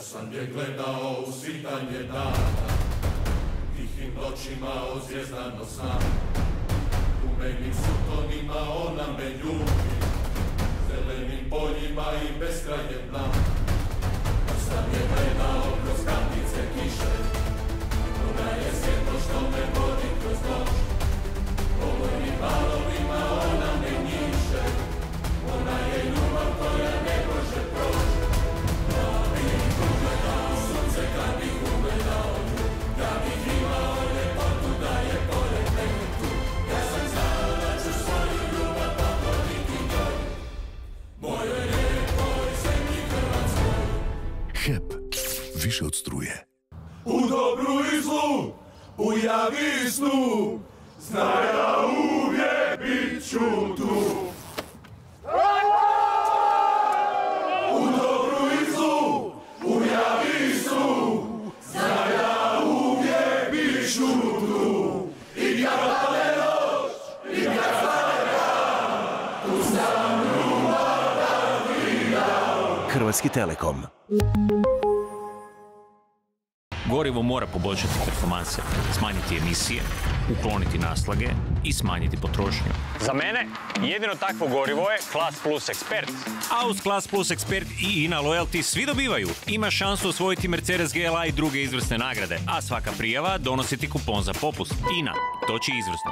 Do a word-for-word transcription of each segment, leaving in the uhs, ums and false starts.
sam je gledao u svitanje dana, tihim noćima ozvjezdano sam. U meni sutonima ona me ljubi, zelenim poljima i beskrajem dna. Kad sam je gledao kroz kandice kiše, ona je svjetlo što me vodi kroz noć. Polovnim valovima ona me njiše, ona je ljubav koja ne može proći. Ja bih ugledao sunce kad bih ugledao nju, ja bih imao ljepotu da je pored mene tu. Ja sam znao da ću svoju ljubav pokloniti njoj, mojoj lijepoj zemlji Hrvatskoj. H E P, više od struje. U dobru i zlu, u javi i snu, znaj da uvijek bit ću tu. U dobru i zlu, u javi i snu, znaj da uvijek bit ću tu. I kad pale noć, i kad stane dan, tu sam ljubav da vidam. Hrvatski Telekom. Gorivo mora poboljšati performanse, smanjiti emisije, ukloniti naslage i smanjiti potrošnju. Za mene jedino takvo gorivo je Class Plus Expert. A uz Class Plus Expert i INA Loyalty svi dobivaju. Ima šansu osvojiti Mercedes G L A i druge izvrsne nagrade, a svaka prijava donosi ti kupon za popust. INA, toči izvrsnost.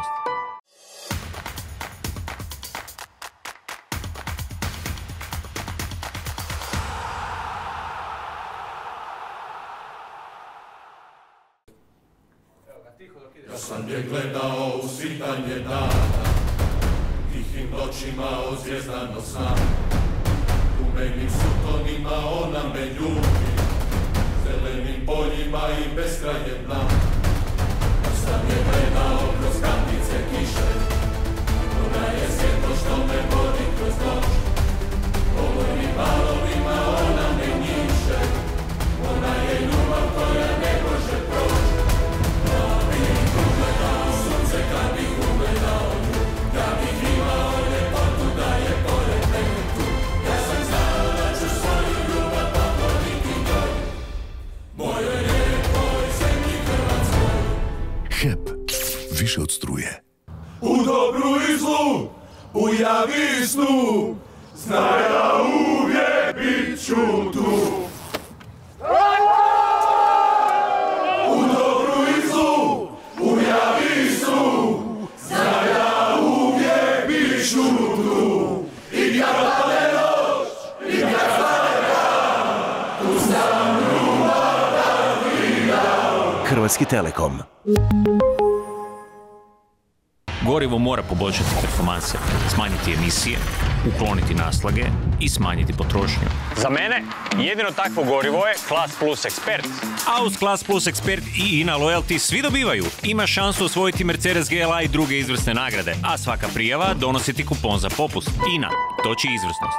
Ja sam je gledao u svitanje dana, tihim noćima ozvjezdano sam. U meni sutonima ona me ljubi, zelenim poljima i beskrajem dna. Ja sam je gledao kroz kandice kiše, ona je svjetlo što me vodi kroz noć. Polovnim valovima ona me njiše, ona je ljubav koja ne može proći. Kad bih ugledao nju, ja bih imao ljepotu da je pored mene tu. Ja sam znao da ću svoju ljubav pokloniti njoj, mojoj lijepoj zemlji Hrvatskoj. H E P, više od struje. U dobru i zlu, u javi i snu, znaj da uvijek bit ću tu. U dobru i zlu, u javi i snu, znaj da uvijek bit ću tu. I kad pale noć, i kad stane dan, tu sam ljubav da vidam. Hrvatski Telekom. Gorivo mora poboljšati performanse, smanjiti emisije, ukloniti naslage i smanjiti potrošnju. Za mene jedino takvo gorivo je Class Plus Expert. A uz Class Plus Expert i INA Loyalty svi dobivaju. Ima šansu osvojiti Mercedes G L A i druge izvrsne nagrade, a svaka prijava donosi ti kupon za popust. INA, toči izvrsnost.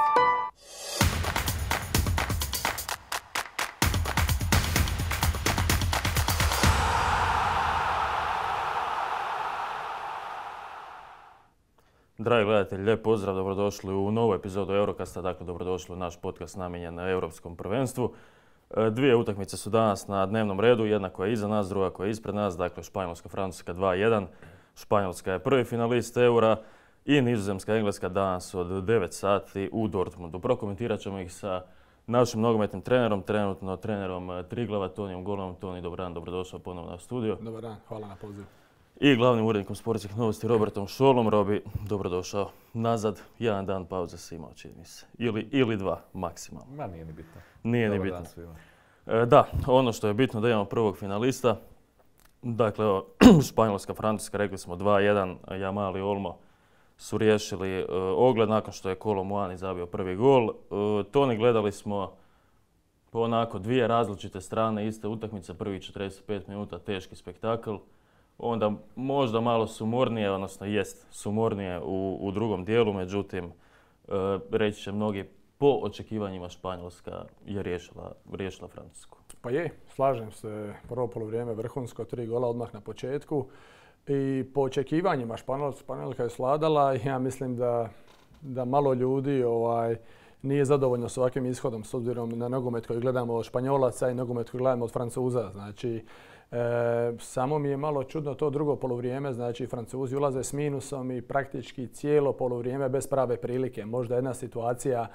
Dragi gledatelji, lijep pozdrav, dobrodošli u novu epizodu Eurocasta, dakle dobrodošli u naš podcast namijenjen na Europskom prvenstvu. Dvije utakmice su danas na dnevnom redu, jedna koja je iza nas, druga koja je ispred nas, dakle Španjolska-Francuska dva jedan. Španjolska je prvi finalist Eura i Nizozemska-Engleska danas od devet sati u Dortmundu. Prokomentirat ćemo ih sa našim nogometnim trenerom, trenutno trenerom Triglava, Tonijom Golovom. Toni, dobar dan, dobrodošao ponovno na studio. Dobar dan, hvala na pozivu. I glavnim urednikom sportskih novosti Robertom Šolom. Robi, dobrodošao nazad. Jedan dan pauze si imao, čini mi se. Ili, ili dva, maksimalno. Ma nije ni bitno. Nije Dobar ni bitno. Dan svima. E, da, ono što je bitno da imamo prvog finalista. Dakle, Španjolska, Francuska, rekli smo dva jedan. Jamal i Olmo su riješili e, ogled nakon što je Kolo Muani zabio prvi gol. E, Toni, gledali smo onako dvije različite strane iste utakmice. Prvih četrdeset pet minuta teški spektakl. Onda možda malo sumornije, odnosno jest sumornije u, u drugom dijelu, međutim, e, reći će mnogi, po očekivanjima Španjolska je riješila, riješila Francusku. Pa je, slažem se, prvo polovrijeme vrhunsko, tri gola odmah na početku. I po očekivanjima Španjolska je sladala i ja mislim da, da malo ljudi ovaj, nije zadovoljno s ovakvim ishodom s obzirom na nogomet koji gledamo od Španjolaca i nogomet koji gledamo od Francuza. Znači, e, samo mi je malo čudno to drugo poluvrijeme, znači Francuzi ulaze s minusom i praktički cijelo poluvrijeme bez prave prilike. Možda jedna situacija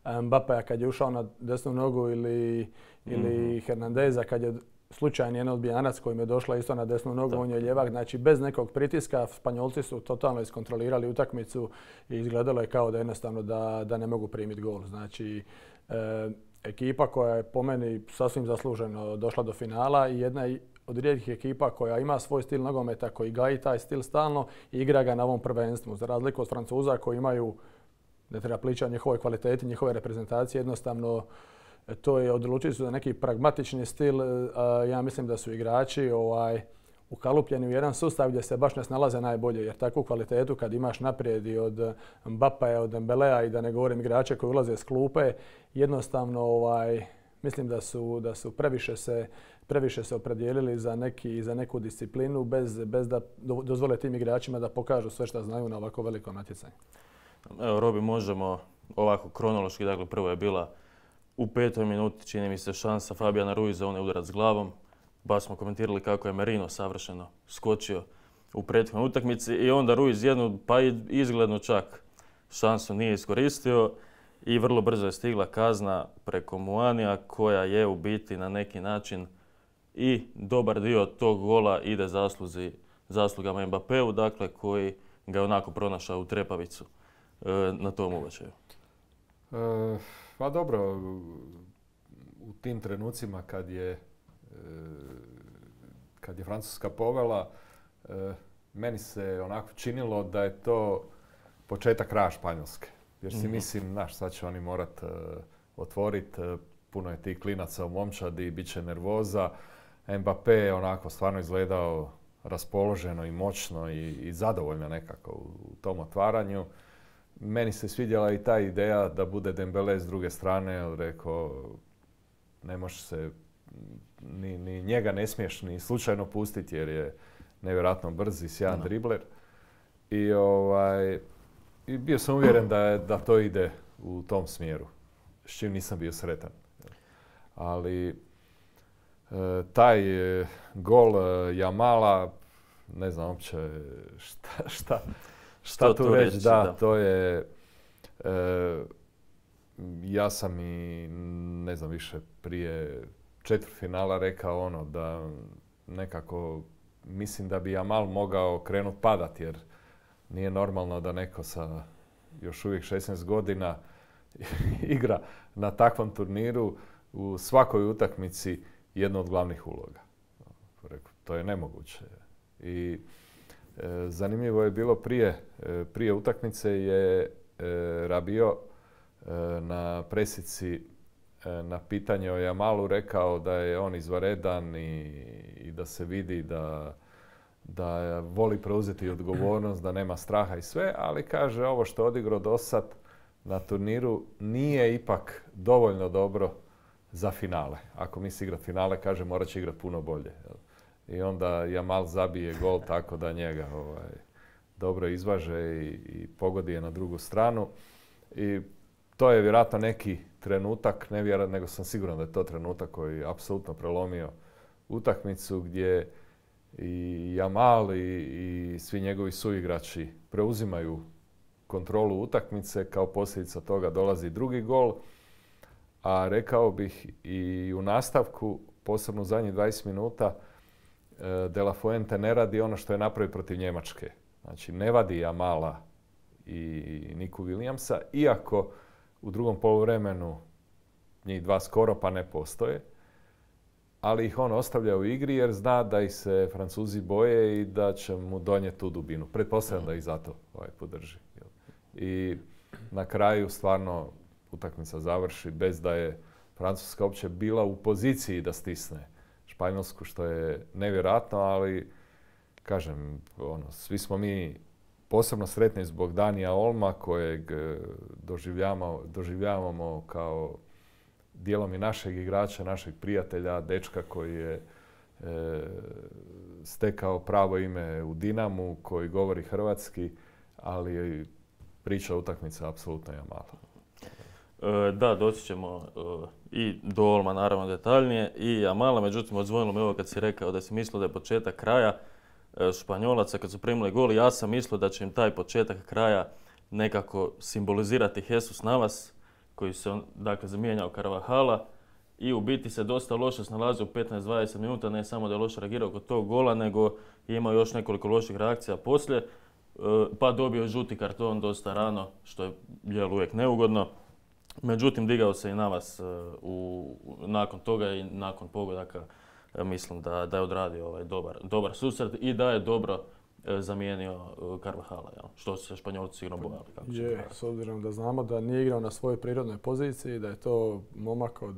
Mbappéa kad je ušao na desnu nogu ili, ili mm-hmm. Hernandeza kad je slučajni jedan odbijanac kojim je došla isto na desnu nogu, on je ljevak. Znači bez nekog pritiska Španjolci su totalno iskontrolirali utakmicu i izgledalo je kao da jednostavno da, da ne mogu primiti gol. Znači e, ekipa koja je po meni sasvim zasluženo došla do finala i jedna od rijetkih ekipa koja ima svoj stil nogometa, koji gaji taj stil stalno i igra ga na ovom prvenstvu. Za razliku od Francuza koji imaju, ne treba pričati o njihovoj kvaliteti, njihove reprezentacije, jednostavno to je odlučili su za neki pragmatični stil. Ja mislim da su igrači ovaj, ukalupljeni u jedan sustav gdje se baš ne snalaze najbolje, jer takvu kvalitetu kad imaš naprijed i od Mbappéa, od Dembélea i da ne govorim igrače koji ulaze s klupe, jednostavno ovaj, mislim da su, da su previše se previše se opredijelili za, neki, za neku disciplinu bez, bez da dozvole tim igračima da pokažu sve što znaju na ovako velikom natjecanju. Evo, Robi, možemo ovako kronološki, dakle prvo je bila u petoj minuti, čini mi se, šansa Fabijana Ruiza, on je udarac s glavom. Baš smo komentirali kako je Merino savršeno skočio u prethodnoj utakmici i onda Ruiz jednu, pa i izgledno čak, šansu nije iskoristio i vrlo brzo je stigla kazna preko Muanija koja je u biti na neki način i dobar dio tog gola ide zasluzi, zaslugama Mbappéu, dakle koji ga je onako pronašao u trepavicu e, na tom ubačaju. E, pa dobro, u tim trenucima kad je, e, kad je Francuska povela, e, meni se onako činilo da je to početak kraja Španjolske. Jer si mm-hmm. mislim, znaš, sad će oni morat e, otvoriti, e, puno je tih klinaca u momčadi, bit će nervoza. Mbappé je onako stvarno izgledao raspoloženo i moćno i, i zadovoljno nekako u, u tom otvaranju. Meni se svidjela i ta ideja da bude Dembélé s druge strane, jer rekao, ne može se, ni, ni njega ne smiješ ni slučajno pustiti jer je nevjerojatno brz i sjajan no. dribler. I, ovaj, i bio sam uvjeren da, je, da to ide u tom smjeru, s čim nisam bio sretan. Ali e, taj e, gol e, Jamala, ne znam uopće šta, šta, šta tu reći, da, da, to je, e, ja sam i ne znam više prije četvrtfinala rekao ono da nekako mislim da bi Jamal mogao krenut padat jer nije normalno da neko sa još uvijek šesnaest godina igra na takvom turniru u svakoj utakmici jednu od glavnih uloga. To je nemoguće. I e, zanimljivo je bilo prije, e, prije utakmice je e, Rabiot e, na presici e, na pitanje o Jamalu rekao da je on izvanredan i, i da se vidi da, da voli preuzeti odgovornost, da nema straha i sve, ali kaže ovo što je odigrao do sad na turniru nije ipak dovoljno dobro za finale. Ako misli igrat finale, kaže morat će igrat puno bolje. I onda Jamal zabije gol tako da njega ovaj, dobro izvaže i, i pogodi je na drugu stranu. I to je vjerojatno neki trenutak, ne vjerojatno, nego sam siguran da je to trenutak koji je apsolutno prelomio utakmicu gdje i Jamal i, i svi njegovi suigrači preuzimaju kontrolu utakmice. Kao posljedica toga dolazi drugi gol. A rekao bih i u nastavku, posebno u zadnjih dvadeset minuta, De La Fuente ne radi ono što je napravio protiv Njemačke. Znači ne vadi Jamala i Niku Williamsa, iako u drugom poluvremenu njih dva skoro pa ne postoje, ali ih on ostavlja u igri jer zna da ih se Francuzi boje i da će mu donijeti tu dubinu. Pretpostavljam da ih zato ovaj podrži. I na kraju stvarno utakmica završi bez da je Francuska uopće bila u poziciji da stisne Španjolsku, što je nevjerojatno, ali kažem, ono, svi smo mi posebno sretni zbog Danija Olma, kojeg doživljavamo, doživljavamo kao dijelom i našeg igrača, našeg prijatelja, dečka koji je e, stekao pravo ime u Dinamu, koji govori hrvatski, ali priča utakmica apsolutno Jamala. E, da, doći ćemo e, i do Olma naravno detaljnije i Jamala, međutim odzvonilo me ovo kad si rekao da si mislio da je početak kraja e, Španjolaca kad su primili gol. Ja sam mislio da će im taj početak kraja nekako simbolizirati Jesus Navas koji se dakle zamijenjao Carvahala i u biti se dosta loše snalazio u petnaest do dvadeset minuta, ne samo da je loše reagirao kod tog gola, nego je imao još nekoliko loših reakcija poslije, pa dobio žuti karton dosta rano, što je jel, uvijek neugodno. Međutim, digao se i Navas u, nakon toga i nakon pogodaka mislim da, da je odradio ovaj dobar, dobar susret i da je dobro zamijenio Carvahala, jel? Što se Španjolci sigurno bojali. Kako je, s obzirom da znamo da nije igrao na svojoj prirodnoj poziciji, da je to momak od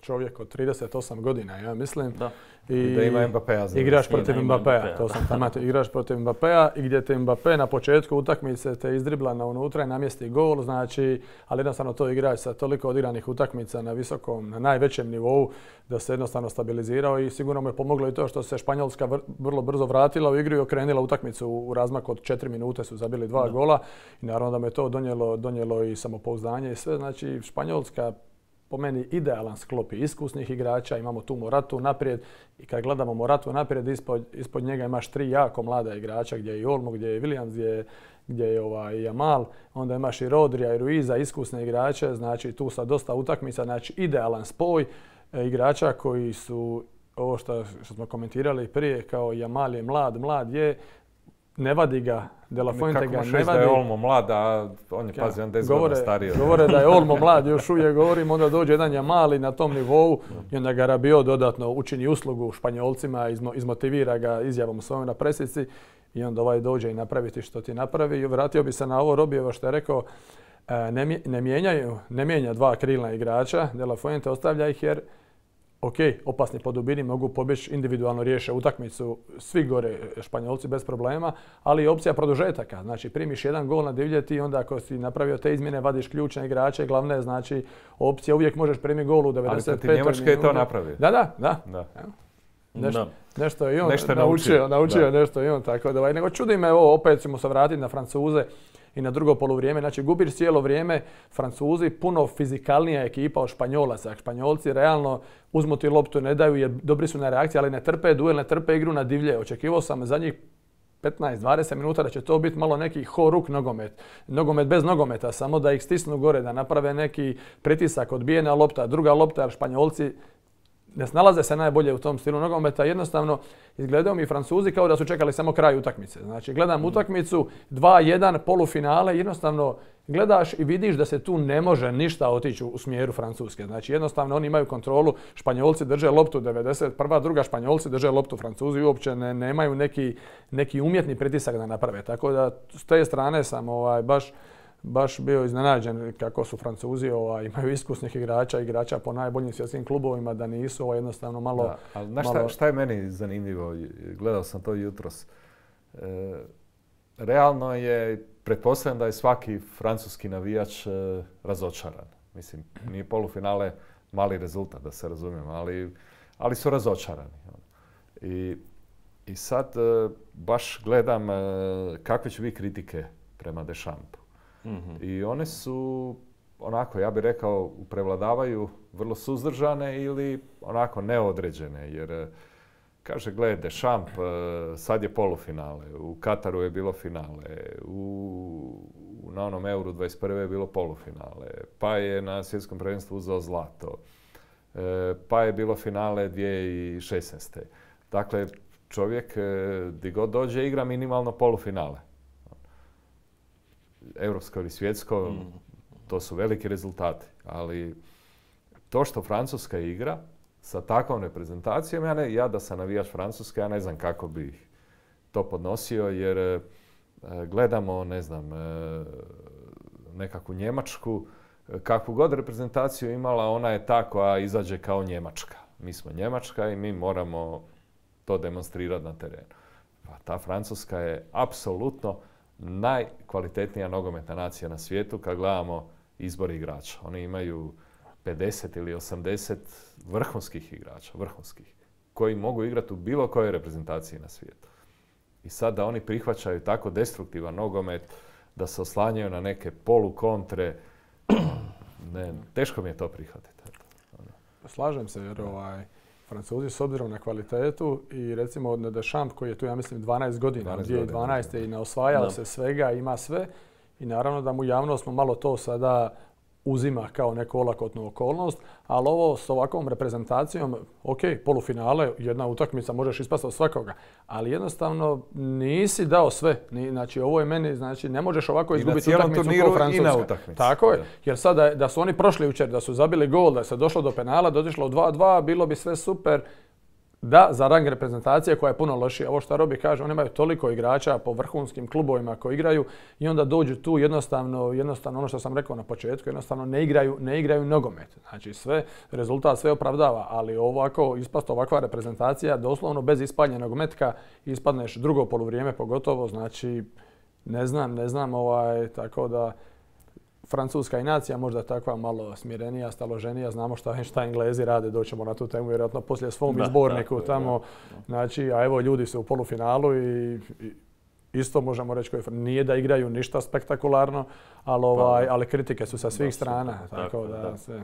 čovjek od trideset osam godina, ja mislim. Da. I, I da ima Mbappéa. Igraš protiv Mbappéa, to sam tamo, igraš protiv Mbappéa i gdje te Mbappé na početku utakmice te izdribla na unutra i namjesti gol, znači, ali jednostavno to igrač sa toliko odigranih utakmica na visokom, na najvećem nivou, da se jednostavno stabilizirao i sigurno mu je pomoglo i to što se Španjolska vrlo brzo vratila u igru i okrenila utakmicu u razmaku od četiri minute su zabili dva da. gola i naravno da me to donijelo, donijelo i samopouzdanje i sve, znači Španjolska po meni idealan sklop iskusnih igrača, imamo tu Moratu naprijed i kad gledamo Moratu naprijed, ispod, ispod njega imaš tri jako mlada igrača gdje je i Olmo, gdje je Williams, gdje je, gdje je ovaj Jamal, onda imaš i Rodrija i Ruiza, iskusne igrače, znači tu sa dosta utakmica, znači idealan spoj e, igrača koji su, ovo što, što smo komentirali prije, kao Jamal je mlad, mlad je, ne vadi ga, De La Fuente ga ne vadi. Kako da je Olmo mlad, a on je, pazi, on deset godina stariji. Govore da je Olmo mlad, još uvijek govorim, onda dođe jedan Jamal i na tom nivou i onda ga Rabiot dodatno učini uslugu Španjolcima, izmo, izmotivira ga izjavom svojom na presici i onda ovaj dođe i napraviti što ti napravi. I vratio bi se na ovo Robijevo što je rekao, ne, ne, mijenjaju, ne mijenja dva krilna igrača, De La Fuente ostavlja ih jer ok, opasni po dubini mogu pobjeći, individualno riješe utakmicu, svi gore Španjolci bez problema, ali i opcija produžetaka. Znači primiš jedan gol na divljeti i onda ako si napravio te izmjene vadiš ključne igrače, glavne znači opcija uvijek možeš primiti gol u devedeset petoj minuti. Ali protiv Njemačke je to napravio. Da, da, da. da. Nešto, nešto je i on nešto naučio, naučio, naučio nešto i on tako da. Nego čudi me ovo, opet ćemo se vratiti na Francuze i na drugo poluvrijeme. Znači gubiš cijelo vrijeme, Francuzi puno fizikalnija ekipa od Španjolaca. Španjolci realno uzmu ti loptu, ne daju jer dobri su na reakciji, ali ne trpe duel, ne trpe igru na divlje. Očekivao sam zadnjih petnaest do dvadeset minuta da će to biti malo neki ho-ruk nogomet. Nogomet bez nogometa, samo da ih stisnu gore, da naprave neki pritisak, odbijena lopta, druga lopta, jer Španjolci ne snalaze se najbolje u tom stilu nogometa. Jednostavno, izgledaju mi Francuzi kao da su čekali samo kraj utakmice. Znači, gledam mm. utakmicu, dva jedan, polufinale, jednostavno gledaš i vidiš da se tu ne može ništa otići u smjeru Francuske. Znači, jednostavno oni imaju kontrolu, Španjolci drže loptu devedeset prva, druga Španjolci drže loptu, Francuzi uopće ne, nemaju neki, neki umjetni pritisak da naprave. Tako da, s te strane sam ovaj, baš baš bio iznenađen kako su Francuzi ovaj, imaju iskusnih igrača, igrača po najboljim svjetskim klubovima, da nisu ovaj, jednostavno malo... Da, ali znaš šta, šta je meni zanimljivo? Gledao sam to jutros. E, realno je, pretpostavljam da je svaki francuski navijač e, razočaran. Mislim, nije polufinale mali rezultat, da se razumijemo, ali, ali su razočarani. I, i sad e, baš gledam e, kakve će biti kritike prema Deschampu. Mm-hmm. I one su, onako, ja bih rekao, prevladavaju vrlo suzdržane ili onako neodređene. Jer, kaže, gledaj, Deschamps, sad je polufinale, u Kataru je bilo finale, u, na onom Euro dvadeset prve je bilo polufinale, pa je na svjetskom prvenstvu uzeo zlato, pa je bilo finale dvije tisuće šesnaeste. Dakle, čovjek gdje god dođe igra minimalno polufinale. Europsko ili svjetsko, mm. to su veliki rezultati. Ali to što Francuska igra sa takvom reprezentacijom, ja, ne, ja da sam navijač Francuske, ja ne znam kako bih to podnosio, jer e, gledamo, ne znam, e, nekakvu Njemačku, kakvu god reprezentaciju imala, ona je ta koja izađe kao Njemačka. Mi smo Njemačka i mi moramo to demonstrirati na terenu. Pa ta Francuska je apsolutno najkvalitetnija nogometna nacija na svijetu kad gledamo izbor igrača. Oni imaju pedeset ili osamdeset vrhunskih igrača, vrhunskih, koji mogu igrati u bilo kojoj reprezentaciji na svijetu. I sad da oni prihvaćaju tako destruktivan nogomet, da se oslanjaju na neke polukontre, Ne, teško mi je to prihvatiti. Slažem se jer ovaj, Francuzi s obzirom na kvalitetu i recimo Deschamps koji je tu ja mislim dvanaest godina, dvije tisuće dvanaeste i ne osvajao se svega, ima sve i naravno da mu javno smo malo to sada uzima kao neku olakotnu okolnost, ali ovo s ovakvom reprezentacijom, ok, polufinale, jedna utakmica, možeš ispasti od svakoga, ali jednostavno nisi dao sve. Znači, ovo je meni, znači, ne možeš ovako izgubiti utakmicu kao Francuska. I na utakmici. Tako je, jer sad da, da su oni prošli jučer, da su zabili gol, da se došlo do penala, da otišlo dva dva, bilo bi sve super. Da, za rang reprezentacije koja je puno lošija. Ovo što Robi kaže, oni imaju toliko igrača po vrhunskim klubovima koji igraju i onda dođu tu jednostavno, jednostavno ono što sam rekao na početku, jednostavno ne igraju, ne igraju nogomet. Znači sve, rezultat sve opravdava, ali ovako ispast ovakva reprezentacija, doslovno bez ispaljenog metka ispadneš drugo poluvrijeme pogotovo, znači ne znam, ne znam, ovaj, tako da Francuska i nacija možda takva malo smirenija, staloženija, znamo šta, šta Englezi rade, doćemo na tu temu vjerojatno poslije svom da, izborniku da, tamo. Da, da. Znači, a evo ljudi su u polufinalu i, i isto možemo reći koji nije da igraju ništa spektakularno, ali, ovaj, ali kritike su sa svih da, strana, super, tako, tako da, da sve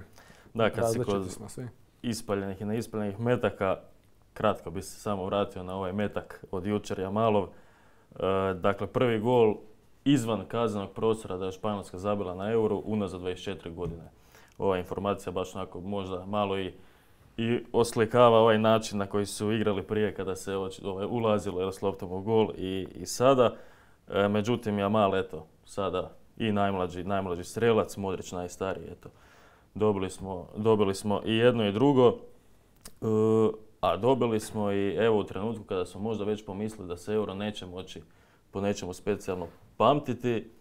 da, kad si kod smo svi. Ispaljenih i neispaljenih metaka, kratko bi se samo vratio na ovaj metak od jučer Jamalov. E, dakle, prvi gol izvan kaznenog prostora da je Španjolska zabila na Euro unazad dvadeset četiri godine. Ova informacija baš onako možda malo i, i oslikava ovaj način na koji su igrali prije kada se ovaj, ulazilo s loptom u gol i, i sada. E, međutim, Jamal, eto, sada i najmlađi, najmlađi strelac, Modrić najstariji, eto. Dobili smo, dobili smo i jedno i drugo, e, a dobili smo i evo u trenutku kada smo možda već pomislili da se Euro neće moći po nečemu specijalno pamtiti.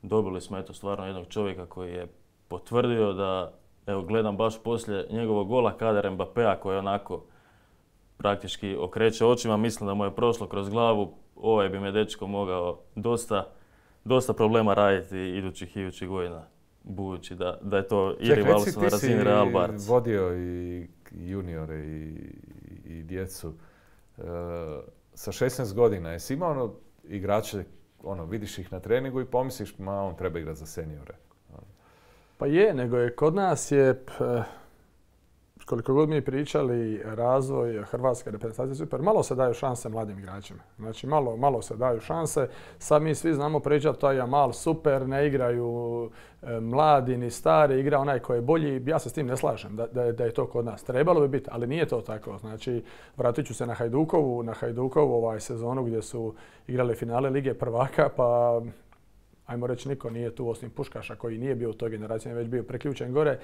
Dobili smo eto stvarno jednog čovjeka koji je potvrdio da, evo gledam baš poslije njegovog gola Kader Mbappéa koji onako praktički okreće očima, mislim da mu je prošlo kroz glavu, ovaj bi me dečko mogao dosta, dosta problema raditi idućih i idućih godina, budući da, da je to i rivalstvo na razini Real Barca. Ti si vodio i juniore i, i djecu. E, sa šesnaest godina jesi imao ono igrače, ono, vidiš ih na treningu i pomisliš, ma on treba igrati za seniore. Pa je, nego je kod nas je, koliko god mi pričali, razvoj hrvatske reprezentacije super, malo se daju šanse mladim igračima. Znači, malo, malo se daju šanse. Sad mi svi znamo pričati, taj Jamal super, ne igraju e, mladi ni stari, igra onaj koji je bolji. Ja se s tim ne slažem da, da, da je to kod nas. Trebalo bi biti, ali nije to tako. Znači, vratit ću se na Hajdukovu, na Hajdukovu ovaj sezonu gdje su igrali finale Lige prvaka, pa ajmo reći niko nije tu osim Puškaša koji nije bio u toj generaciji, već bio preključen gore.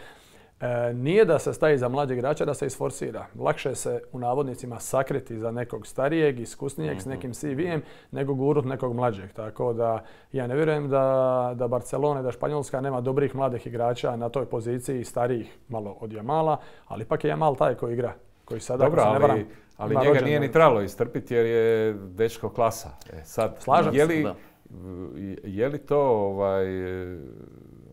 E, nije da se stavi za mlađeg igrača, da se isforsira. Lakše se u navodnicima sakriti za nekog starijeg, iskusnijeg mm-hmm. s nekim C V-em, nego gurut nekog mlađeg. Tako da ja ne vjerujem da, da Barcelona, da Španjolska nema dobrih mladih igrača na toj poziciji, starijih malo od Jamala, ali ipak je Jamal taj koji igra. Koji sada, dobro, se ne varam, ali, ali njega nije ni trebalo istrpiti jer je dečko klasa. E, sad, slažem je li, se, da. Je li to ovaj,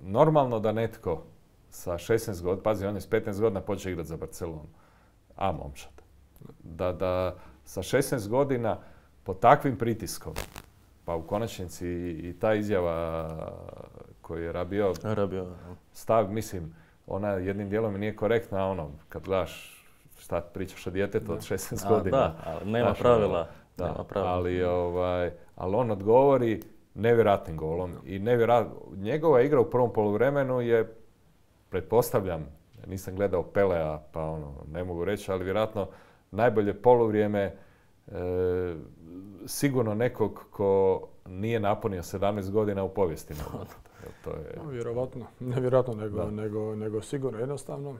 normalno da netko sa šesnaest godina, pazi, on je s petnaest godina počeo igrati za Barcelonu, a momčad. Da, da sa šesnaest godina pod takvim pritiskom, pa u konačnici i ta izjava koju je Rabio stav, mislim, ona jednim dijelom nije korektna, ono, kad gledaš šta pričaš o djetetu od šesnaest godina. Da, ali nema znaš, pravila. Da, nema pravila. Ali, ovaj, ali on odgovori nevjerojatnim golom i nevjerojat... njegova igra u prvom poluvremenu je, pretpostavljam, nisam gledao Pelea, pa ono, ne mogu reći, ali vjerojatno najbolje poluvrijeme e, sigurno nekog ko nije napunio sedamnaest godina u povijesti. To je... No, vjerovatno, ne vjerojatno, nego, nego, nego sigurno jednostavno.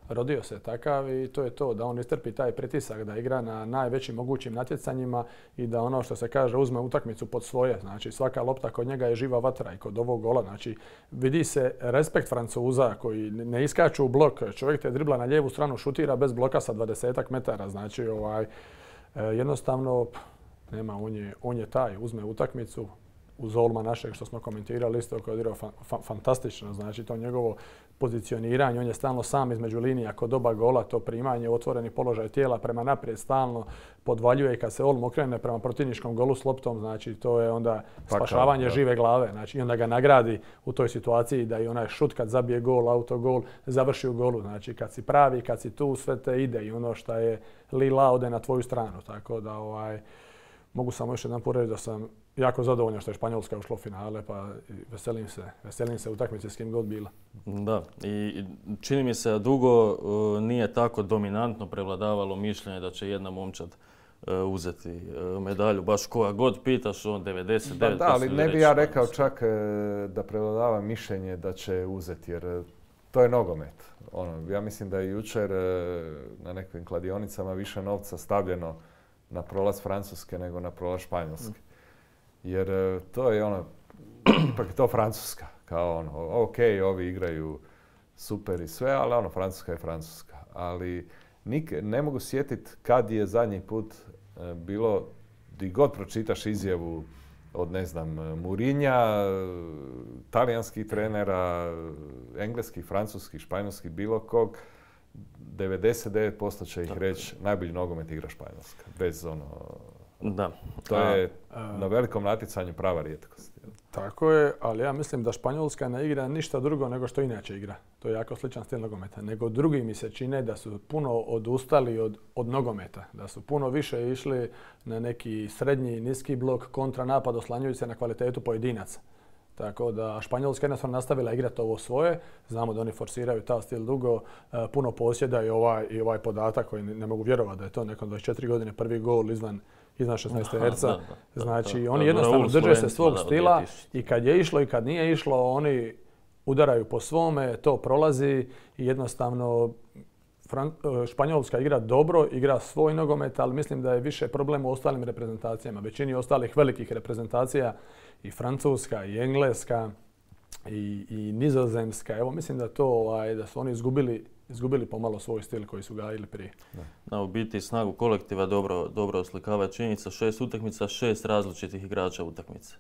Rodio se takav i to je to, da on istrpi taj pritisak, da igra na najvećim mogućim natjecanjima i da ono što se kaže uzme utakmicu pod svoje. Znači svaka lopta kod njega je živa vatra i kod ovog gola. Znači vidi se respekt Francuza koji ne iskaču u blok. Čovjek te dribla na lijevu stranu, šutira bez bloka sa dvadesetak metara. Znači ovaj, jednostavno nema, on je, on je taj, uzme utakmicu. Uz Olma našeg što smo komentirali isto koji je odigrao fa- fa- fantastično, znači to njegovo pozicioniranje, on je stalno sam između linija kod oba gola, to primanje, otvoreni položaj tijela prema naprijed stalno podvaljuje i kad se Olmo okrene prema protivničkom golu s loptom, znači to je onda spašavanje žive glave, znači i onda ga nagradi u toj situaciji da i onaj šut kad zabije gol, autogol, završi u golu, znači kad si pravi, kad si tu, sve te ide i ono što je lila ode na tvoju stranu, tako da ovaj, mogu samo još jedan put reći da sam jako zadovoljan što je Španjolska ušla u finale, pa veselim se, veselim se utakmici s kim god bila. Da, i čini mi se da dugo uh, nije tako dominantno prevladavalo mišljenje da će jedna momčad uh, uzeti uh, medalju. Baš koja god pitaš, on devedeset devet posto. Da, ali ne bi ja rekao čak uh, da prevladava mišljenje da će uzeti, jer uh, to je nogomet. Ono, ja mislim da je jučer uh, na nekim kladionicama više novca stavljeno na prolaz Francuske nego na prolaz Španjolske. Jer to je ono, ipak je to Francuska. Kao ono, ok, ovi igraju super i sve, ali ono, Francuska je Francuska. Ali nik, ne mogu sjetiti kad je zadnji put e, bilo, di god pročitaš izjavu od, ne znam, Mourinha, talijanskih trenera, engleskih, francuskih, španjolskih, bilo kog, devedeset devet posto će ih reći najbolji nogomet igra Španjolska. Bez ono... Da. To je na velikom natjecanju prava rijetkost. Tako je, ali ja mislim da Španjolska ne igra ništa drugo nego što inače igra. To je jako sličan stil nogometa. Nego drugi mi se čine da su puno odustali od, od nogometa. Da su puno više išli na neki srednji, niski blok, kontranapad, oslanjujući se na kvalitetu pojedinaca. Tako da Španjolska jednostavno nastavila igrati ovo svoje. Znamo da oni forsiraju ta stil dugo, puno posjeda i ovaj, i ovaj podatak koji ne, ne mogu vjerovati da je to nekom dvadeset četiri godine prvi gol izvan izvan šesnaest terca. Znači, da, da, oni jednostavno drže se svog stila i kad je išlo i kad nije išlo, oni udaraju po svome, to prolazi i jednostavno Fran- Španjolska igra dobro, igra svoj nogomet, ali mislim da je više problem u ostalim reprezentacijama. Većini ostalih velikih reprezentacija i Francuska i Engleska i, i Nizozemska. Evo, mislim da to ovaj, da su oni izgubili izgubili pomalo svoj stil koji su gajili prije. Da, u biti snagu kolektiva dobro, dobro oslikava činjenica. Šest utakmica, šest različitih igrača utakmice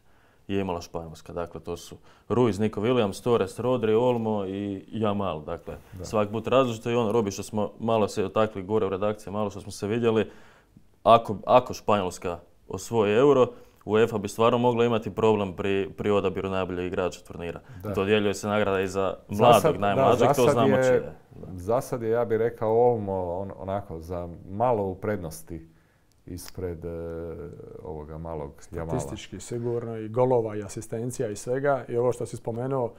je imala Španjolska. Dakle, to su Ruiz, Nico Williams, Torres, Rodri, Olmo i Yamal. Dakle, da. Svaki put različito i on, Robi, što smo malo se dotakli gore u redakciji, malo što smo se vidjeli, ako, ako Španjolska osvoji euro, UEFA bi stvarno mogla imati problem pri, pri odabiru najboljeg igrača turnira. Da. Dodjeljuje se nagrada i za mladog, zasad, najmlađeg, da, to znamo čije. Je, za sad je, ja bih rekao, Olmo on, onako za malo u prednosti ispred e, ovoga malog Jamala. Statistički sigurno i golova i asistencija i svega. I ovo što si spomenuo,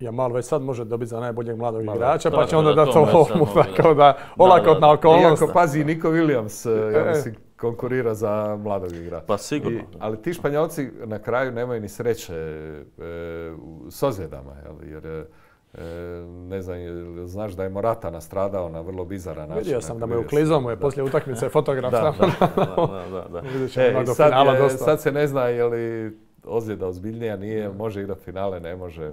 Jamal već sad može dobiti za najboljeg mladog Malo, igrača, pa će onda da to Olmu, tako da olakotna okolnost. Iako pazi, Nico Williams, ja mislim, konkurira za mladog igrača. Pa sigurno. I, ali ti Španjolci na kraju nemaju ni sreće e, s ozljedama, jel? Jer e, ne znam, znaš da je Morata nastradao na vrlo bizaran način. Vidio sam da me uklizao mu je poslije utakmice fotograf. Da, da, da, da, da. E, do sad, finala je, dosta. Sad se ne zna je li ozljeda ozbiljnija, nije, može igrati finale, ne može.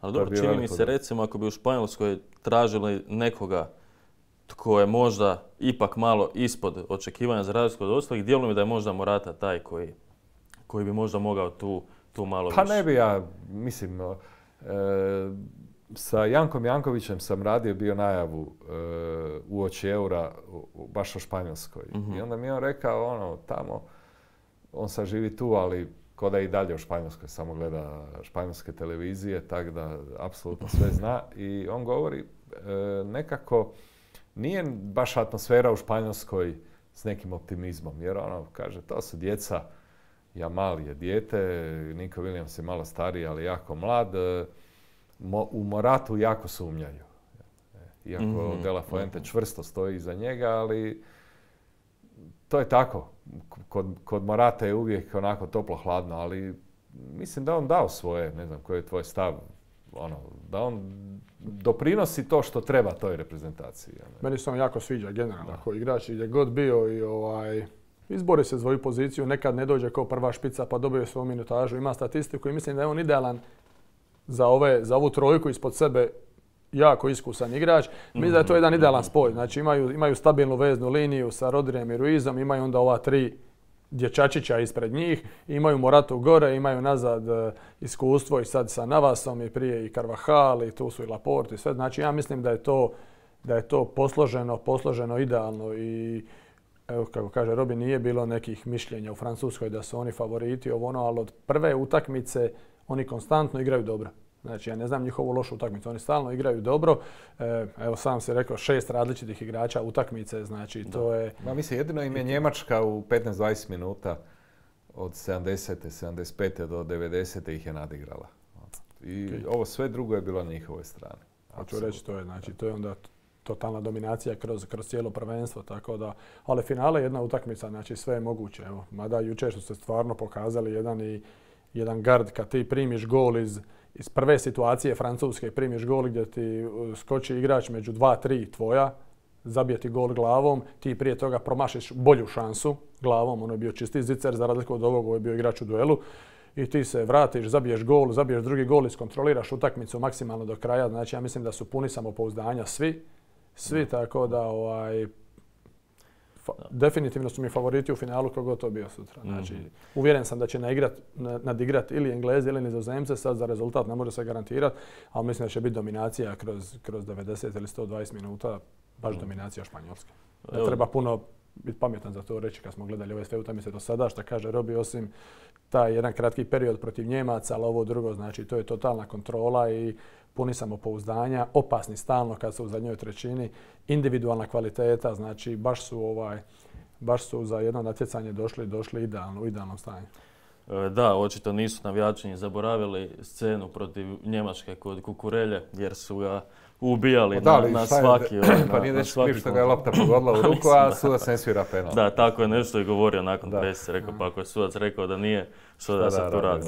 Ali dobro, čini mi se recimo ako bi u Španjolskoj tražili nekoga tko je možda ipak malo ispod očekivanja za razliku od ostalih, djeluje mi da je možda Morata taj koji, koji bi možda mogao tu, tu malo pa više. Pa ne bi ja, mislim, e, sa Jankom Jankovićem sam radio bio najavu e, uoči eura baš o Španjolskoj. Mm-hmm. I onda mi je on rekao, ono, tamo, on sad živi tu, ali ko da i dalje u Španjolskoj, samo gleda španjolske televizije, tako da apsolutno sve zna. I on govori, e, nekako nije baš atmosfera u Španjolskoj s nekim optimizmom, jer ono, kaže, to su djeca, Yamal je dijete, Nico Williams je malo stariji, ali jako mlad. E, mo, u Moratu jako sumnjaju. Iako mm-hmm. De La Fuente čvrsto stoji iza njega, ali to je tako. Kod, kod Morata je uvijek onako toplo-hladno, ali mislim da on dao svoje, ne znam koji je tvoj stav, ono, da on doprinosi to što treba toj reprezentaciji. Ne? Meni se on jako sviđa generalno, ako igrač gdje god bio i ovaj, izbori se za svoju poziciju, nekad ne dođe kao prva špica pa dobije svoju minutažu, ima statistiku i mislim da je on idealan za, ove, za ovu trojku ispod sebe. Jako iskusan igrač. Mislim da je to jedan idealan spoj. Znači imaju, imaju stabilnu veznu liniju sa Rodrijem i Ruizom, imaju onda ova tri dječačića ispred njih, imaju Moratu gore, imaju nazad iskustvo i sad sa Navasom i prije i Carvajal i tu su i Laporte i sve. Znači ja mislim da je to, da je to posloženo, posloženo idealno i evo kako kaže Robi, nije bilo nekih mišljenja u Francuskoj da su oni favoriti, ovo ono, ali od prve utakmice oni konstantno igraju dobro. Znači ja ne znam njihovu lošu utakmicu, oni stalno igraju dobro. E, evo sam si rekao šest različitih igrača utakmice, znači da. To je... Ma mislim, jedino im je Njemačka u petnaest do dvadeset minuta od sedamdesete, sedamdeset pete do devedesete ih je nadigrala. I okay. Ovo sve drugo je bilo na njihovoj strani. Hoću reći, to je, znači, to je onda totalna dominacija kroz, kroz cijelo prvenstvo, tako da, ali finale je jedna utakmica, znači sve je moguće. Evo, mada jučer su se stvarno pokazali jedan i jedan gard kad ti primiš gol iz iz prve situacije Francuske, primiš gol gdje ti skoči igrač među dva, tri tvoja, zabije ti gol glavom, ti prije toga promašiš bolju šansu glavom, ono je bio čisti zicer, za razliku od ovog, ovo je bio igrač u duelu, i ti se vratiš, zabiješ gol, zabiješ drugi gol, iskontroliraš utakmicu maksimalno do kraja, znači ja mislim da su puni samopouzdanja svi, svi, tako da ovaj, fa, definitivno su mi favoriti u finalu kogod to bio sutra. Znači, mm-hmm. uvjeren sam da će naigrat, nadigrat ili Englezi ili Nizozemce, sad za rezultat ne može se garantirati, ali mislim da će biti dominacija kroz, kroz devedeset ili sto dvadeset minuta, baš mm. dominacija Španjolske. Ne treba puno biti pametan za to reći kad smo gledali ove sve utakmice do sada, što kaže Robi, osim taj jedan kratki period protiv Njemaca, ali ovo drugo, znači to je totalna kontrola i puni samopouzdanja, opasni stalno kad su u zadnjoj trećini, individualna kvaliteta, znači baš su ovaj, baš su za jedno natjecanje došli, došli idealno, u idealnom stanju. Da, očito nisu navijači zaboravili scenu protiv Njemačke kod Kukurelje, jer su ga ubijali da, na, na svaki... Je, ovaj, pa nije nešto kriv što ga je lopta pogodila u ruku, a sudac ne svira penal. Da, tako je nešto i govorio nakon presice. Rekao, pa ako je sudac rekao da nije, što da, da se tu radi.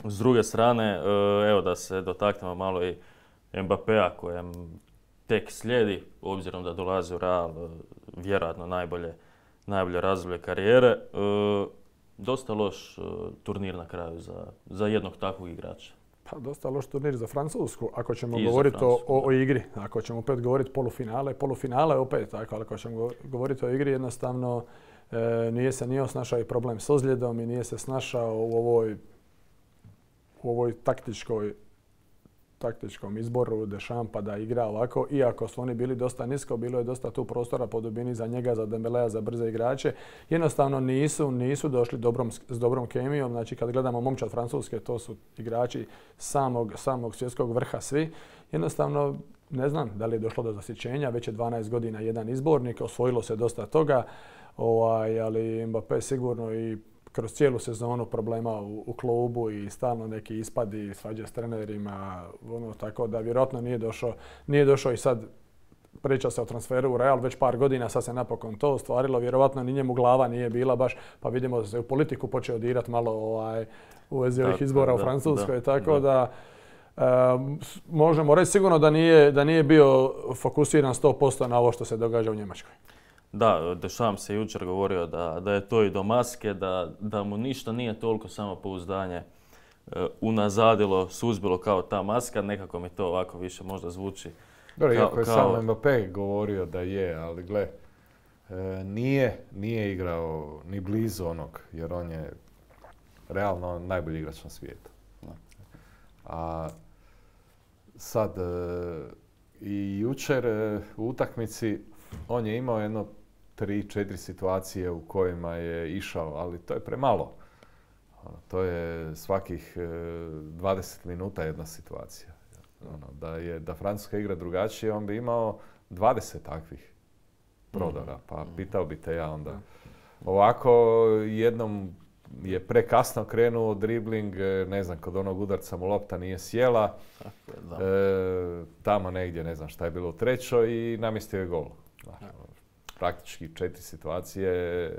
S druge strane, evo da se dotaknemo malo i Mbappéa kojem tek slijedi, obzirom da dolazi u Real, vjerojatno najbolje, najbolje razdoblje karijere. Dosta loš uh, turnir na kraju za, za jednog takvog igrača. Pa dosta loš turnir za Francusku, ako ćemo govoriti o, o, o igri. Ako ćemo opet govoriti polufinale, polufinale opet tako, ali ako ćemo govoriti o igri, jednostavno e, nije se nije snašao i problem s ozljedom i nije se snašao u ovoj, u ovoj taktičkoj taktičkom izboru Deschampa da igra ovako, iako su oni bili dosta nisko, bilo je dosta tu prostora po dubini za njega, za Dembelea, za brze igrače. Jednostavno nisu, nisu došli dobrom, s dobrom kemijom. Znači kad gledamo momčad Francuske, to su igrači samog, samog svjetskog vrha svi. Jednostavno ne znam da li je došlo do zasićenja, već je dvanaest godina jedan izbornik, osvojilo se dosta toga, ovaj, ali Mbappé sigurno i kroz cijelu sezonu problema u, u klubu i stalno neki ispadi, svađe s trenerima, ono, tako da vjerojatno nije došao, nije došao i sad priča se o transferu u Real već par godina, sad se napokon to ostvarilo, vjerojatno ni njemu glava nije bila baš, pa vidimo da se u politiku počeo dirati malo ovaj, u vezi ovih izbora da, u Francuskoj, da, tako da, da um, možemo reći sigurno da nije, da nije bio fokusiran sto posto na ovo što se događa u Njemačkoj. Da, Deschamps se jučer govorio da, da je to i do maske, da, da mu ništa nije toliko samopouzdanje e, unazadilo, suzbilo kao ta maska. Nekako mi to ovako više možda zvuči. Dobro, iako je kao... sam Mbappé govorio da je, ali gle, e, nije, nije igrao ni blizu onog, jer on je realno najbolji igrač na svijetu. A sad e, i jučer e, u utakmici on je imao jedno tri, četiri situacije u kojima je išao, ali to je premalo. To je svakih dvadeset minuta jedna situacija. Ono, da je da Francuska igra drugačije, on bi imao dvadeset takvih prodora, pa pitao bi te ja onda. Ovako jednom je prekasno krenuo dribling, ne znam, kod onog udarca mu lopta nije sjela, e, tamo negdje, ne znam šta je bilo u trećoj i namjestio je gol. Znači, praktički četiri situacije,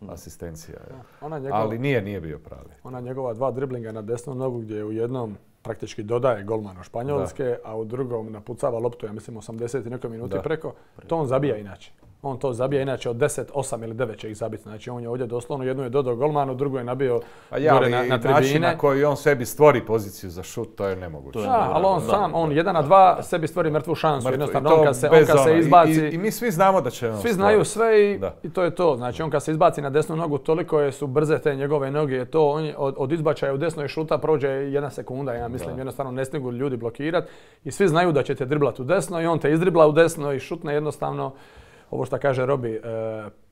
mm. asistencija. Ja. Njegova, ali nije, nije bio pravi. Ona njegova dva driblinga na desnu nogu gdje je u jednom praktički dodaje golmanu Španjolske, da. A u drugom napucava loptu, ja mislim osamdeset i nekoj minuti da. Preko. To on zabija inače. on to zabija, inače od deset, osam ili devet će ih zabiti. Znači on je ovdje doslovno, jednu je dodao golmanu, drugu je nabio ja, gore na, na tribine. Način na koji on sebi stvori poziciju za šut, to je nemoguće. Da, ali on sam, on jedan na dva da, sebi stvori mrtvu šansu. Mrtvo, jednostavno, on kad se, on kad se izbaci... I, i, I mi svi znamo da će on Svi znaju sve i, da. i to je to. Znači on kad se izbaci na desnu nogu, toliko je, su brze te njegove noge, to on je, od, od izbačaja u desnoj šuta prođe jedna sekunda, ja mislim, da. Jednostavno ne stigu ljudi blokirati. I svi znaju da će te driblati u desno i on te izdribla u desno i šutne jednostavno. Ovo što kaže Robi, e,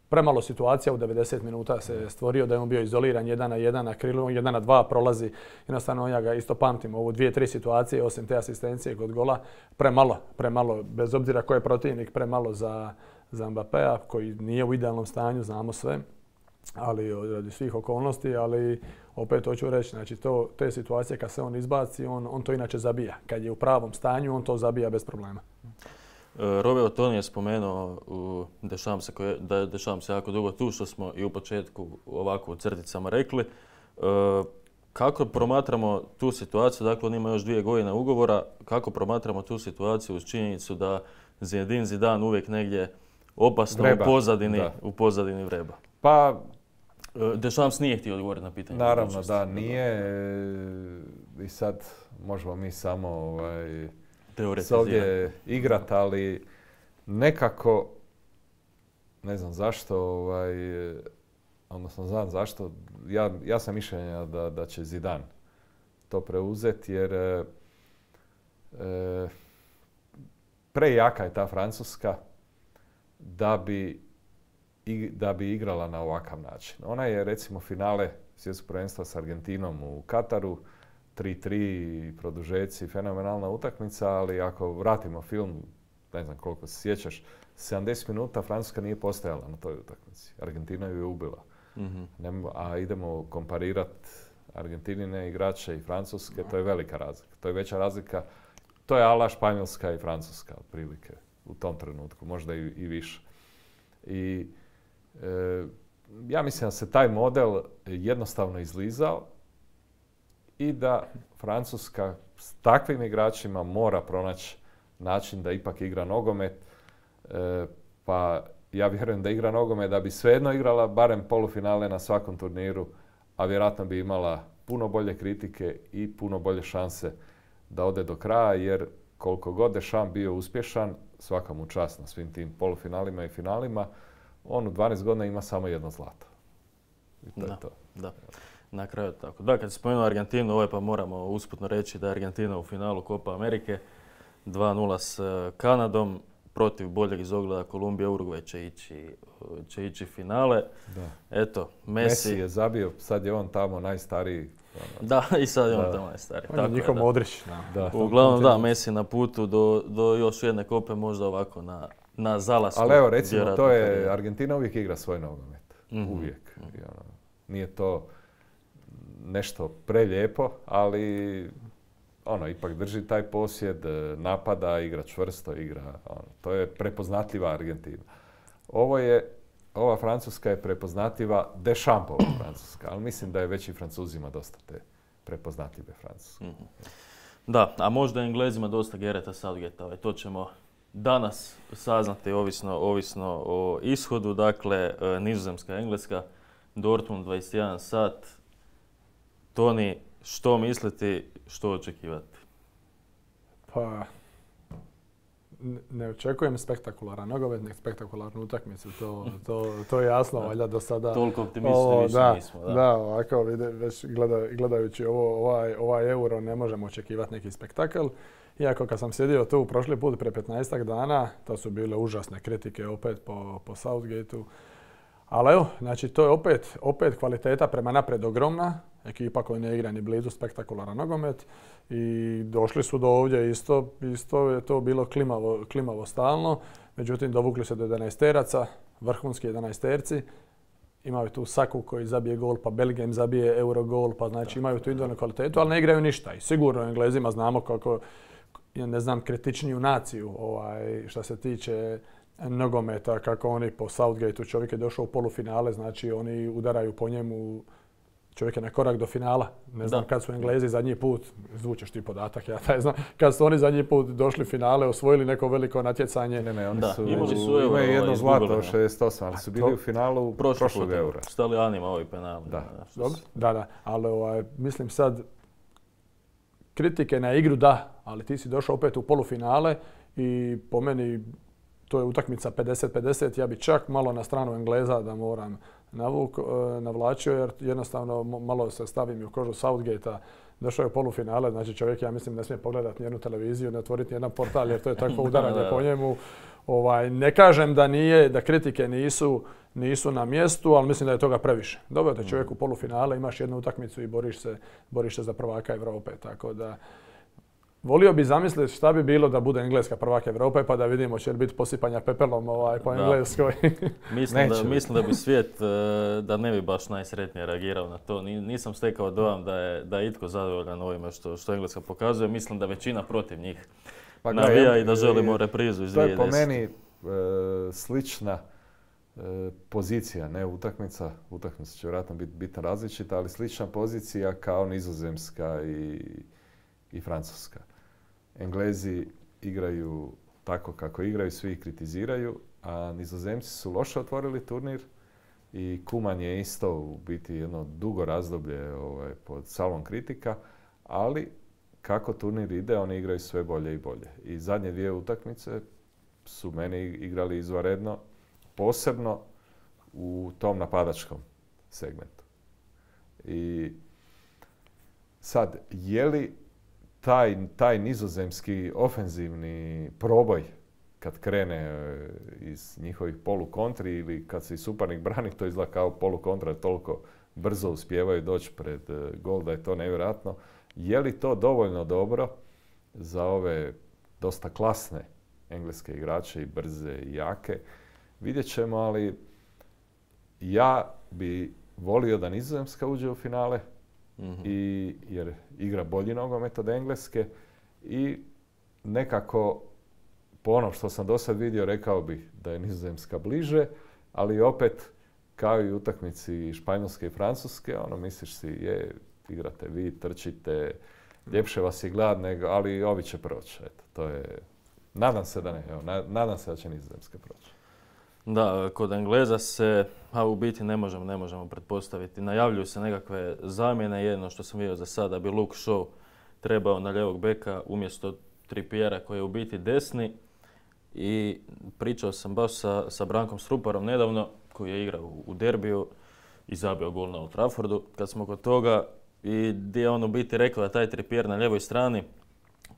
premalo situacija u devedeset minuta se stvorio da je on bio izoliran jedan na jedan na krilu, jedan na dva prolazi. Jednostavno ja ga isto pamtim, ovo dvije, tri situacije, osim te asistencije kod gola, premalo, premalo, bez obzira ko je protivnik, premalo za, za Mbappéa koji nije u idealnom stanju, znamo sve, ali radi svih okolnosti, ali opet hoću reći, znači to, te situacije kad se on izbaci, on, on to inače zabija. Kad je u pravom stanju, on to zabija bez problema. Robert Toni je spomenuo dešavam se, da je dešavam se jako dugo tu, što smo i u početku ovako u crticama rekli. Kako promatramo tu situaciju, dakle on ima još dvije godine ugovora, kako promatramo tu situaciju uz činjenicu da Zinedine Zidane uvijek negdje opasno vreba. u pozadini, da. u pozadini vreba? Pa, Dešams nije htio odgovoriti na pitanje. Naravno da nije i sad možemo mi samo ovaj, se ovdje igrati, ali nekako, ne znam zašto, ovaj, odnosno znam zašto, ja, ja sam mišljenja da, da će Zidane to preuzeti jer e, prejaka je ta Francuska da bi, i, da bi igrala na ovakav način. Ona je recimo finale svjetskog prvenstva s Argentinom u Kataru, tri tri produžeci, fenomenalna utakmica, ali ako vratimo film, ne znam koliko se sjećaš, sedamdeset minuta Francuska nije postojala na toj utakmici. Argentina ju je ubila. Mm-hmm. A idemo komparirati Argentinine igrače i Francuske, to je velika razlika. To je veća razlika, to je ala Španjolska i Francuska otprilike u tom trenutku, možda i, i više. I e, ja mislim da se taj model jednostavno izlizao i da Francuska s takvim igračima mora pronaći način da ipak igra nogomet. E, pa ja vjerujem da igra nogomet da bi svejedno igrala barem polufinale na svakom turniru, a vjerojatno bi imala puno bolje kritike i puno bolje šanse da ode do kraja, jer koliko god Deschamps bio uspješan, svaka mu čast na svim tim polufinalima i finalima, on u dvanaest godina ima samo jedno zlato. I to da, je to. Da. Na kraju tako. Da, kad se spomenuo Argentinu, ovaj pa moramo usputno reći da je Argentina u finalu Copa Amerike dva nula s Kanadom. Protiv boljeg izogleda Kolumbije, Urugvaj će ići, će ići finale. Da. Eto, Messi... Messi je zabio, sad je on tamo najstariji. Da, i sad je on da. tamo najstariji. On je njihov Modrić. Da. Uglavnom da, Messi na putu do, do još jedne kope, možda ovako na, na zalasku. Ali evo, recimo, to je, Argentina uvijek igra svoj nogomet. Mm-hmm. Uvijek. Mm-hmm. I ono, nije to nešto prelijepo, ali... Ono, ipak drži taj posjed, napada, igra čvrsto, igra, ono, to je prepoznatljiva Argentina. Ovo je, ova Francuska je prepoznatljiva Dechampova Francuska, ali mislim da je već i Francuzima dosta te prepoznatljive Francuske. Mm-hmm. Da, a možda Englezima dosta Gareta Southgatea, to ćemo danas saznati ovisno, ovisno o ishodu. Dakle, Nizozemska, Engleska, Dortmund dvadeset jedan sat. Toni, što misliti, što očekivati? Pa, ne očekujem spektakularan nogomet, nek spektakularnu utakmicu, to, to, to je jasno, valjda do sada. Toliko optimisti više da, nismo. Da, da ovako, već gleda, gledajući ovo, ovaj, ovaj euro ne možemo očekivati neki spektakl. Iako kad sam sjedio tu prošli put pre petnaestak dana, to su bile užasne kritike opet po, po Southgateu. Ali evo, znači to je opet, opet kvaliteta prema naprijed ogromna. Ekipa koja ne igra ni blizu spektakularan nogomet i došli su do ovdje isto, isto je to bilo klimavo, klimavo stalno. Međutim, dovukli se do jedanaesteraca, vrhunski jedanaesterci. Imaju tu Saku koji zabije gol, pa Belgija zabije Eurogol, pa znači imaju tu individualnu kvalitetu, ali ne igraju ništa. I sigurno Englezima znamo kako, ne znam, kritičniju naciju ovaj, što se tiče nogometa, kako oni po Southgateu, čovjek je došao u polufinale, znači oni udaraju po njemu. čovjek je na korak do finala. Ne znam Da. kad su Englezi zadnji put, zvučeš ti podatak, ja taj znam, kad su oni zadnji put došli finale, osvojili neko veliko natjecanje. Ne, ne, oni Da, su, imali su euro, imaju jedno ovaj, zlato izgubili, od šezdeset osam, ali su bili u finalu prošlog eura. S Talijanima ovi penali. Da. Dobro, da, da, ali ovaj, mislim sad, kritike na igru da, ali ti si došao opet u polufinale i po meni to je utakmica pedeset pedeset, ja bi čak malo na stranu Engleza da moram navuk, navlačio jer jednostavno malo se stavim u kožu Southgate-a. Došao je u polufinale, znači čovjek ja mislim ne smije pogledati nijednu televiziju, ne otvoriti nijedan portal jer to je takvo udaranje po njemu. Ovaj, ne kažem da nije, da kritike nisu, nisu na mjestu, ali mislim da je toga previše. Dobro te čovjek u polufinale, imaš jednu utakmicu i boriš se, boriš se za prvaka Europe, tako da volio bi zamisliti šta bi bilo da bude Engleska prvak Europe pa da vidimo će li biti posipanja pepelom ovaj, po Da. Engleskoj. Mislim, da, Neće mislim da bi svijet, e, da ne bi baš najsretnije reagirao na to. Ni- Nisam stekao dojam da je, da je itko zadovoljan ovime što, što Engleska pokazuje. Mislim da većina protiv njih Pa gle, navija ja- i da želimo reprizu iz To je po dvije tisuće desete. meni e, slična e, pozicija, ne utakmica, utakmica će vjerojatno biti bitno različita, ali slična pozicija kao Nizozemska i, i Francuska. Englezi igraju tako kako igraju, svi ih kritiziraju, a Nizozemci su loše otvorili turnir i Kuman je isto u biti jedno dugo razdoblje ovaj, pod salvom kritika, ali kako turnir ide, oni igraju sve bolje i bolje. I zadnje dvije utakmice su meni igrali izvanredno, posebno u tom napadačkom segmentu. I sad, je li taj, taj nizozemski ofenzivni proboj kad krene e, iz njihovih polukontri ili kad se i suparnik brani, to izgleda kao polukontra, toliko brzo uspijevaju doći pred e, gol da je to nevjerojatno. Je li to dovoljno dobro za ove dosta klasne engleske igrače i brze i jake? Vidjet ćemo, ali ja bi volio da Nizozemska uđe u finale, i, jer igra bolji nogomet od Engleske i nekako po onom što sam do sad vidio rekao bih da je Nizozemska bliže, ali opet kao i u utakmici Španjolske i Francuske, ono misliš si je, igrate vi, trčite, ljepše vas je glad, nego, ali ovi će proći. Eto, to je, nadam se da ne, evo, na- nadam se da će Nizozemska proći. Da, kod Engleza se, a u biti ne možemo, ne možemo pretpostaviti. Najavljuju se nekakve zamjene, jedno što sam vidio za sada bi Luke Shaw trebao na ljevog beka umjesto Trippiera koji je u biti desni. I pričao sam baš sa, sa Brankom Struparom nedavno, koji je igrao u, u derbiju i zabio gol na Old Traffordu. Kad smo kod toga i gdje je on u biti rekao da taj Trippier na ljevoj strani,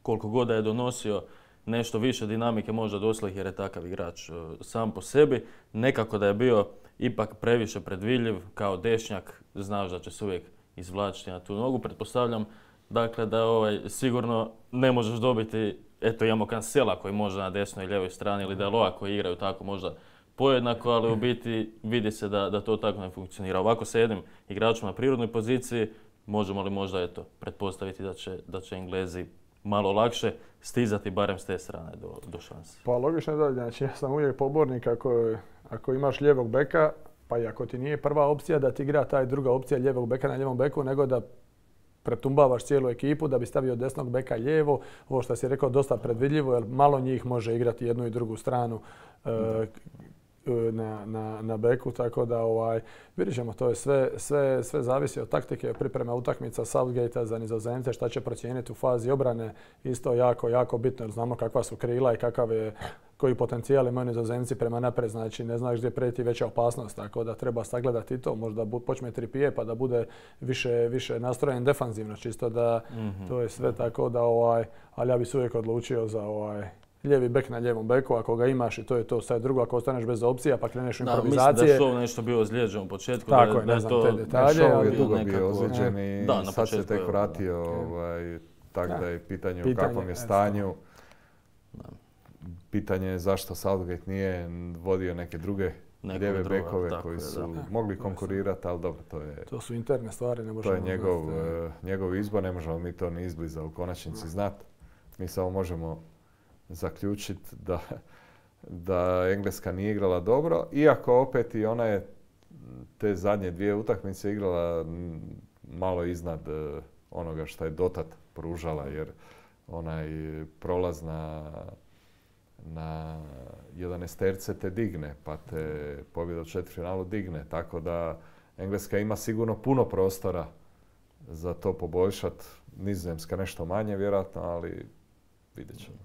koliko god da je donosio nešto više dinamike možda doslih jer je takav igrač e, sam po sebi, nekako da je bio ipak previše predvidljiv kao dešnjak, znaš da će se uvijek izvlačiti na tu nogu. Pretpostavljam dakle da ovaj, sigurno ne možeš dobiti, eto imamo Cancela koji može na desnoj i ljevoj strani ili Daloa koji igraju tako možda pojednako, ali u biti vidi se da, da to tako ne funkcionira. Ovako sa jednim igračom na prirodnoj poziciji možemo li možda eto pretpostaviti da će, da će Englezi malo lakše stizati barem s te strane do, do šanse. Pa logično je da, znači ja sam uvijek pobornik ako, ako imaš lijevog beka, pa i ako ti nije prva opcija da ti igra taj druga opcija lijevog beka na lijevom beku, nego da pretumbavaš cijelu ekipu da bi stavio desnog beka lijevo. Ovo što si rekao dosta predvidljivo, jer malo njih može igrati jednu i drugu stranu e, na, na, na beku, tako da ovaj, vidjet ćemo, to je sve, sve, sve zavisi od taktike, priprema utakmica Southgate-a za Nizozemce, šta će procijeniti u fazi obrane, isto jako, jako bitno, jer znamo kakva su krila i kakav je, koji potencijal imaju Nizozemci prema naprijed, znači ne znaš gdje prijeti veća opasnost, tako da treba sagledati i to, možda bu, počne Trippier pa da bude više, više nastrojen defanzivno, čisto da mm-hmm. to je sve tako da, ovaj, ali ja bi se uvijek odlučio za ovaj, lijevi bek na lijevom beku, ako ga imaš i to je to, sad drugo ako ostaneš bez opcija pa kreneš u improvizacije. Da, mislim da je Shaw nešto bio ozlijeđen u početku. Tako da, je, da ne je znam to, te detalje. Shaw ali je dugo bio nekako- ozlijeđen i Da, na sad se početku tek je, vratio, ovaj, tako Da. da je pitanje u Pitanje, kakvom je eto. stanju. Pitanje je zašto Southgate nije vodio neke druge Nekog lijeve druga, bekove tako koji je, su da. mogli konkurirati, ali dobro, to je, To su interne stvari, ne to možemo je njegov, znati. eh, njegov izbor, ne možemo mi to ni izbliza u konačnici znati. Mi samo možemo zaključiti da, da Engleska nije igrala dobro, iako opet i ona je te zadnje dvije utakmice igrala mm, malo iznad onoga što je dotad pružala, jer onaj prolaz na, na jedanaesterce te digne, pa te pobjeda u četvrtfinalu digne, tako da Engleska ima sigurno puno prostora za to poboljšati. Nizozemska nešto manje vjerojatno, ali vidjet ćemo.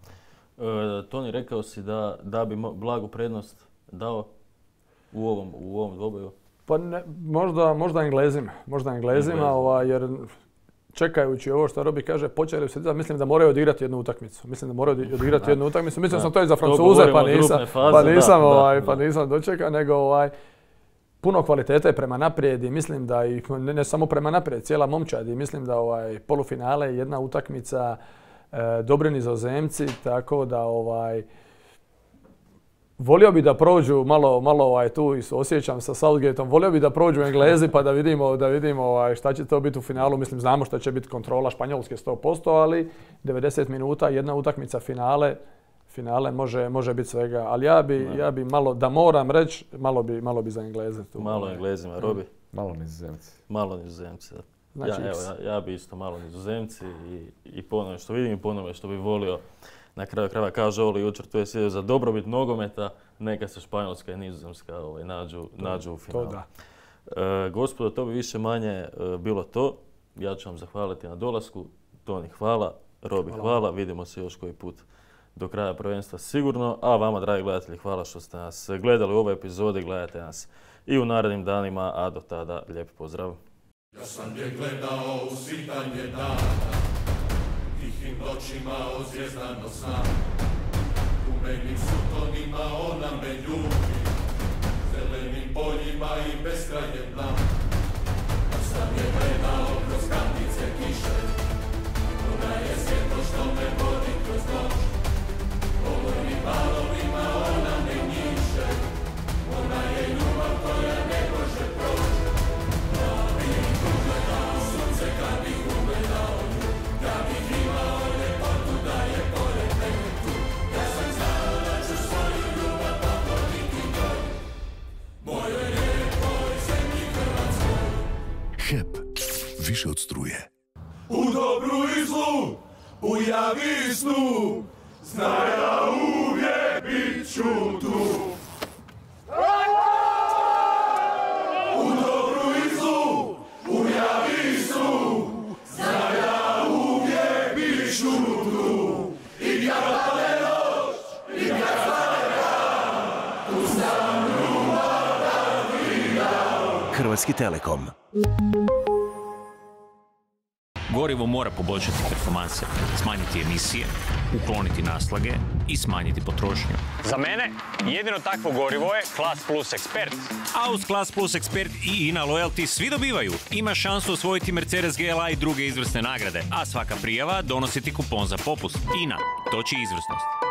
E, Toni, rekao si da, da bi blagu prednost dao u ovom, u ovom dvoboju? Pa ne, možda, možda Englezima, možda Englezima, ovaj, jer čekajući ovo što Robi kaže, počeli se, mislim da moraju odigrati jednu utakmicu. Mislim da moraju odigrati jednu utakmicu. Mislim da sam to i za Francuze, pa nisam, faze, pa nisam, da, ovaj, da, pa nisam dočekao, nego ovaj, puno kvalitete prema naprijed i mislim da i ne, ne samo prema naprijed, cijela momčad i mislim da ovaj polufinale je jedna utakmica, e, dobri Nizozemci, tako da ovaj volio bi da prođu malo, malo ovaj, tu i osjećam sa Southgateom, volio bi da prođu Englezi pa da vidimo, da vidimo ovaj, šta će to biti u finalu. Mislim, znamo što će biti kontrola Španjolske sto posto, ali devedeset minuta, jedna utakmica finale, finale može, može biti svega. Ali ja bi, ja bi malo, da moram reći, malo bi, malo bi za Engleze tu. Malo Englezima, Robi? Malo Nizozemci. Malo Nizozemci, da. Znači, ja, evo, ja, ja bi isto malo Nizozemci i, i po onome što vidim i po onome što bi volio. Na kraju krajeva kaže Oli jučer, tu je sjedio za dobrobit nogometa, neka se Španjolska i Nizozemska ovaj, nađu, to, nađu u finalu. To da. E, gospodo, to bi više manje e, bilo to. Ja ću vam zahvaliti na dolasku. Toni, hvala. Robi, hvala. hvala. Vidimo se još koji put do kraja prvenstva sigurno. A vama, dragi gledatelji, hvala što ste nas gledali u ovoj epizodi. Gledajte nas i u narednim danima, a do tada lijep pozdrav. Ja sam je gledao u svitanje dana, tihim noćima ozvjezdano sna. U meni sutonima ona me ljubi, zelenim poljima i beskrajem dna. Ja sam je gledao kroz kandice kiše, ona je svjetlo što me vodi kroz noć. Govornim valovima ona me njiše, ona je ljubav koja ne može proći. Ja bih ugledao sunce kad bih ugledao nju, ja bih imao ljepotu da je pored mene tu. Ja sam znao da ću svoju ljubav pokloniti njoj, mojoj lijepoj zemlji Hrvatskoj. H E P, više od struje. U dobru i zlu, u javi i snu, znaj da uvijek bit ću tu. U dobru i zlu, u javi i snu, znaj da uvijek bit ću tu. I kad pade noć, i kad stane dan, tu sam ljubav da vidam. Hrvatski Telekom. Gorivo mora poboljšati performanse, smanjiti emisije, ukloniti naslage i smanjiti potrošnju. Za mene jedino takvo gorivo je Class Plus Expert. A uz Class Plus Expert i INA Loyalty svi dobivaju. Ima šansu osvojiti Mercedes G L A i druge izvrsne nagrade, a svaka prijava donosi ti kupon za popust. INA, toči izvrsnost.